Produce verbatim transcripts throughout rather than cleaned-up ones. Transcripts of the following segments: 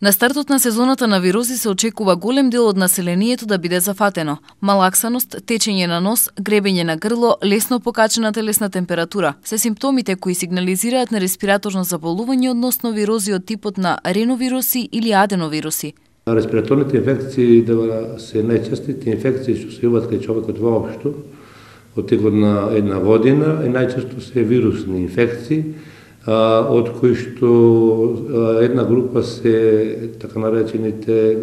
На стартот на сезоната на вируси се очекува голем дел од населението да биде зафатено. Малаксаност, течење на нос, гребење на грло, лесно покачена телесна температура се симптомите кои сигнализираат на респираторно заболување односно вирози од типот на реновируси или аденовируси. Респираторните инфекции да се најчестите инфекции што се јавуваат кај човекот воопшто од текот на една година и најчесто се вирусни инфекции, од кои што една група се така наречените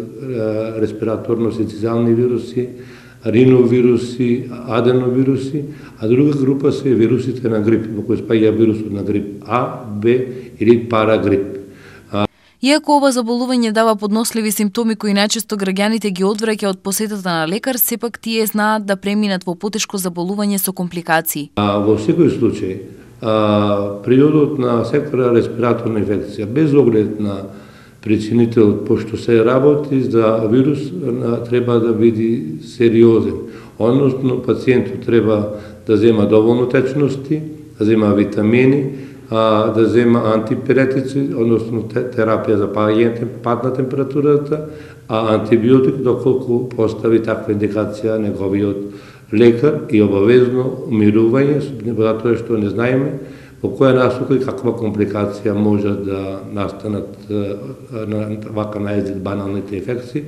респираторно-синцизијални вируси, риновируси, аденовируси, а друга група се вирусите на грип, во кои спаѓа вирусот на грип А, Б или парагрип. Иако ова заболување дава подносливи симптоми кои најчесто граѓаните ги одвраќа од посетата на лекар, сепак тие знаат да преминат во потешко заболување со компликации. А, во секој случај, а, периодот на сектора респираторна инфекција, без оглед на причинител, пошто се работи за вирус, треба да биде сериозен. Односно, пациентот треба да зема доволно течности, да зема витамини, а, да зема антипиретици, односно терапија за пад на температурата, а антибиотик доколку постави таква индикација неговиот лекар и обавезно умирување, затоа што не знаеме во која насока и каква компликација може да настанат на вака најзид баналните инфекции.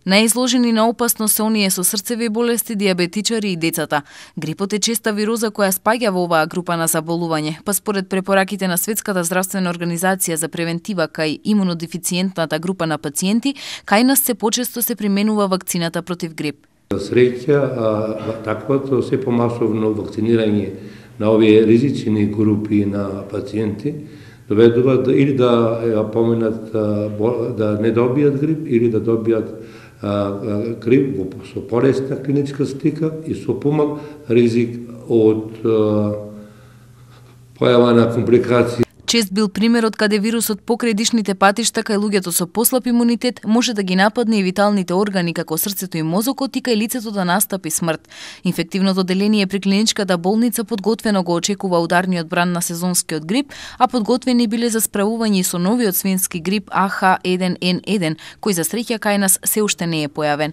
Најизложени на опасност се оние со срцеви болести, диабетичари и децата. Грипот е честа вироза која спаѓа во оваа група на заболување, па според препораките на Светската здравствена организација за превентива кај имунодефициентната група на пациенти, кај нас се почесто се применува вакцината против грип. За среќа, таквото се помасовно вакцинирање на овие ризични групи на пациенти доведува да, или да ја поминат да не добијат грип или да добијат грип со полесна клиничка слика и со помал ризик од појава на компликации. Чест бил примерот каде вирусот покрај дишните патишта кај луѓето со послаб имунитет може да ги нападне и виталните органи како срцето и мозокот и кај лицето да настапи смрт. Инфективното деление при клиничката болница подготвено го очекува ударниот бран на сезонскиот грип, а подготвени биле за справување со новиот свински грип А Х еден Н еден, кој за среќа кај нас се уште не е појавен.